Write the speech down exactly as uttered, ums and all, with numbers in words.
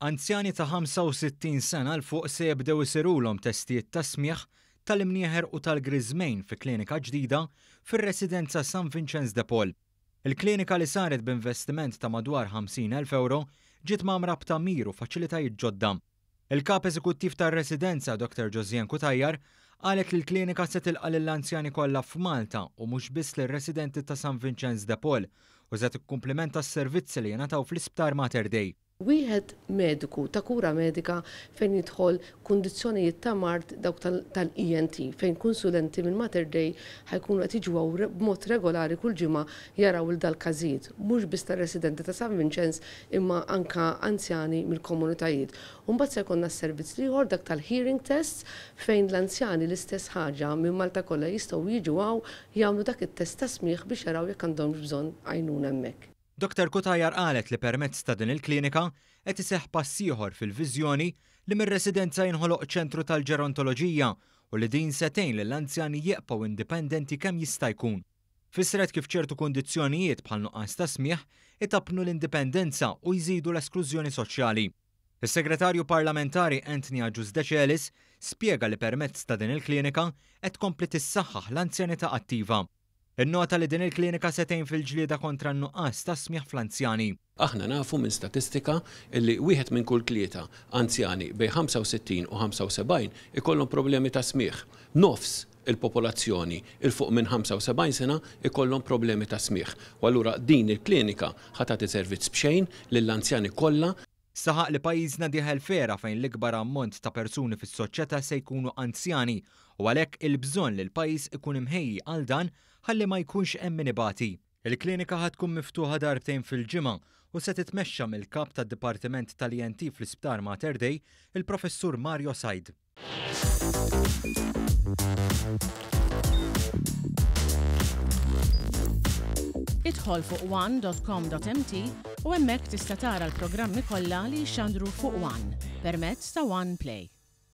Anzjani ta' ħamsa u sittin sena 'l fuq se jibdew isirulhom testijiet ta' smieħ, tal-imnieħer u tal-griżmejn fi klinika ġdida fir-residenza San Vincenz de Paul. Il-klinika, li saret b'investiment ta' madwar ħamsin elf euro, ġiet mgħammra b'tagħmir u faċilitajiet ġodda. Il-kap eżekuttiv tar-residenza, Doktor Josianne Cutajar, qalet li l-klinika se tilqa' lill-anzjani kollha f'Malta u mhux biss lir-residenti ta' San Vincenz de Paul u se tikkumplimenta s-servizzi li jingħataw fl-Isptar Mater Dei. Wieħed mediku ta' kura medika fejn jidħol kundizzjonijiet ta' mard dawk tal-E N T, fejn konsulenti minn Mater Dei ħa jkunu qed jiġu b'mod regolari kull ġimgħa jaraw il dal-każijiet, mhux biss tar-residenti ta' San Vincenz imma anka anzjani mill-komunitajiet. Mbagħad se jkollna s-servizz ieħor, dak tal-hearing tests, fejn l-anzjani l-istess ħaġa minn Malta kollha jistgħu jiġu hawn jagħmlu dak it-test ta' smieħ biex jaraw jekk għandhom bżonn għajnuna hemmhekk. Doktor Cutajar qalet li permezz ta' din il-klinika qed iseħħ pass ieħor fil-viżjoni li mir-residenza jinħoloq ċentru tal-ġerontoloġija u li din se tgħin lill-anzjani jibqgħu indipendenti kemm jista' jkun. Fissret kif ċertu kundizzjonijiet bħal nuqqas ta' smieħ itappnu l-indipendenza u jżidu l-esklużjoni soċjali. Is-segretarju parlamentari Anthony Agius Decelis spjega li permezz ta' din il-klinika qed tkompli tissaħħaħ l-anzjanità attiva. Innota li din il-klinika se tgħin fil-ġlieda kontra n-nuqqas ta' smieħ fl-anzjani. Aħna nafu minn statistika illi wieħed minn kull tlieta anzjani bejn ħamsa u sittin u ħamsa u sebgħin ikollhom problemi ta' smieħ. Nofs il-popolazzjoni 'il fuq minn ħamsa u sebgħin sena ikollhom problemi ta' smieħ. U allura din il-klinika ħa tagħti servizz b'xejn lill-anzjani kollha. Saħaq li pajjiżna dieħel f'era fejn l-ikbar ammont ta' persuni fis-soċjetà se jkunu anzjani u għalhekk il-bżonn li l-pajjiż ikun imħejji għal dan ħalli ma jkunx hemm min ibati. Il-klinika ħa tkun miftuħa darbtejn fil-ġimgħa u se titmexxa mill-kap tad-Dipartiment tal-E N T fl-Isptar Mater Dei, il-Professur Mario Said. Idħol fuq one dot com dot M T u hemmhekk tista' tara l-programmi kollha li jxandru fuq One permezz ta' One Play.